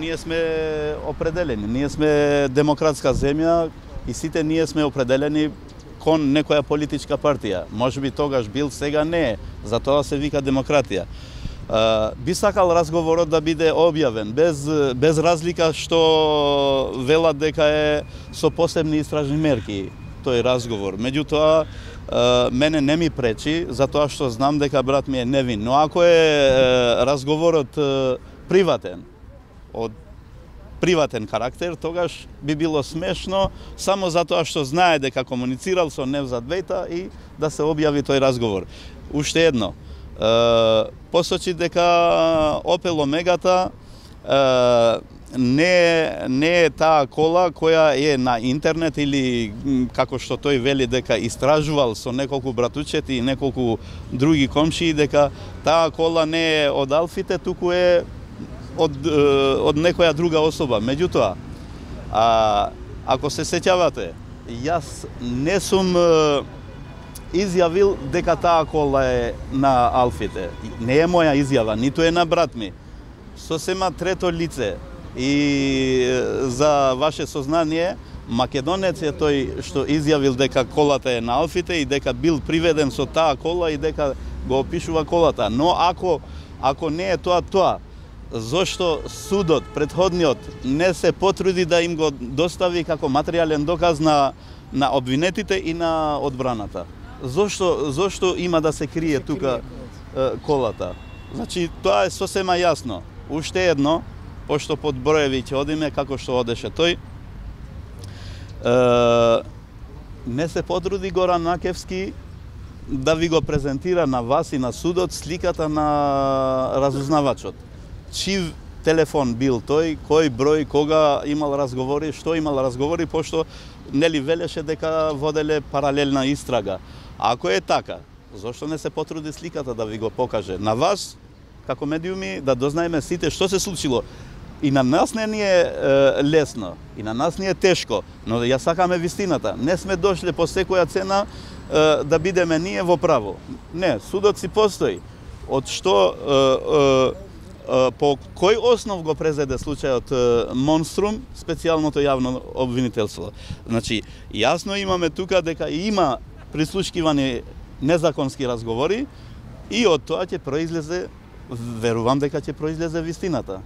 ние сме определени, ние сме демократска земја и сите ние сме определени кон некоја политичка партија. Можеби тогаш бил, сега не е, затоа се вика демократија. Би сакал разговорот да биде објавен, без разлика што велат дека е со посебни истражни мерки тој разговор. Меѓутоа, мене не ми пречи, затоа што знам дека брат ми е невин. Но ако е разговорот приватен, од приватен карактер, тогаш би било смешно само затоа што знае дека комуницирал со Невзат Бејта и да се објави тој разговор. Уште едно, посочи дека Опел Омегата не е таа кола која е на интернет или како што тој вели дека истражувал со неколку братучети и неколку други комшии, дека таа кола не е од Алфите, туку е од некоја друга особа. Меѓутоа, ако се сеќавате, јас не сум изјавил дека таа кола е на Алфите. Не е моја изјава, ниту е на брат ми. Сосема трето лице. И за ваше сознание, македонец е тој што изјавил дека колата е на Алфите и дека бил приведен со таа кола и дека го опишува колата. Но ако не е тоа, зошто судот, претходниот, не се потруди да им го достави како материјален доказ на обвинетите и на одбраната? Зошто има да се крие тука колата? Значи, тоа е сосема јасно. Уште едно, пошто под броеви ќе одиме како што одеше тој, не се потруди Горан Накевски да ви го презентира на вас и на судот сликата на разузнавачот. Чив телефон бил тој, кој број, кога имал разговори, што имал разговори, пошто нели велеше дека воделе паралелна истрага. Ако е така, зошто не се потруди сликата да ви го покаже на вас, како медиуми, да дознаеме сите што се случило? И на нас не ни е лесно, и на нас ни е тешко, но ја сакаме вистината. Не сме дошле по секоја цена да бидеме ние во право. Не, судот си постои. Од што, по кој основ го презеде случајот Монструм, специјалното јавно обвинителство. Значи, јасно имаме тука дека има прислушкивани незаконски разговори и од тоа ќе произлезе, верувам дека ќе произлезе вистината.